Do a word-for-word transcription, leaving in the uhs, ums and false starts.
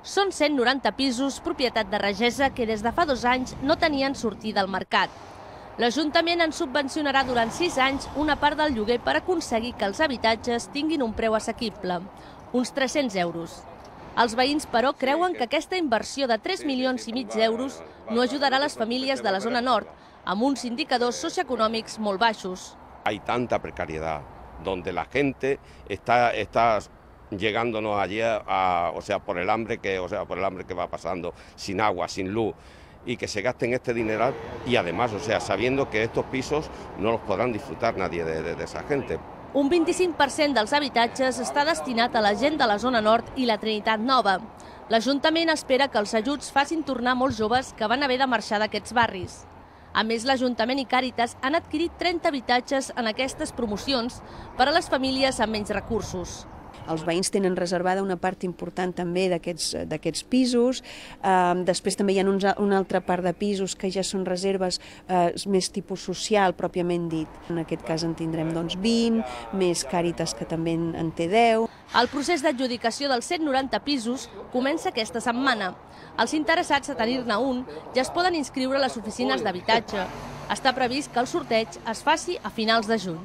Són cent noranta pisos, propietat de Regesa, que des de fa dos anys no tenien sortida al mercat. L'Ajuntament en subvencionarà durant sis anys una part del lloguer per aconseguir que els habitatges tinguin un preu assequible, uns tres-cents euros. Els veïns, però, creuen que aquesta inversió de tres milions i mig d'euros no ajudarà les famílies de la zona nord, amb uns indicadors socioeconòmics molt baixos. Hay tanta precariedad, donde la gente está, está llegándonos allí a, o sea, por el hambre que, o sea, por el hambre que va pasando, sin agua, sin luz, y que se gasten este dineral y además, o sea, sabiendo que estos pisos no los podrán disfrutar nadie de, de, de esa gente. Un vint-i-cinc per cent dels habitatges està destinat a la gent de la zona nord i la Trinitat Nova. L'Ajuntament espera que els ajuts facin tornar molts joves que van haver de marxar d'aquests barris. A més, l'Ajuntament i Càritas han adquirit trenta habitatges en aquestes promocions per a les famílies amb menys recursos. Els veïns tenen reservada una part important també d'aquests pisos. Després també hi ha una altra part de pisos que ja són reserves més tipus social, pròpiament dit. En aquest cas en tindrem vint, més Càritas, que també en té deu. El procés d'adjudicació dels cent noranta pisos comença aquesta setmana. Els interessats a tenir-ne un ja es poden inscriure a les oficines d'habitatge. Està previst que el sorteig es faci a finals de juny.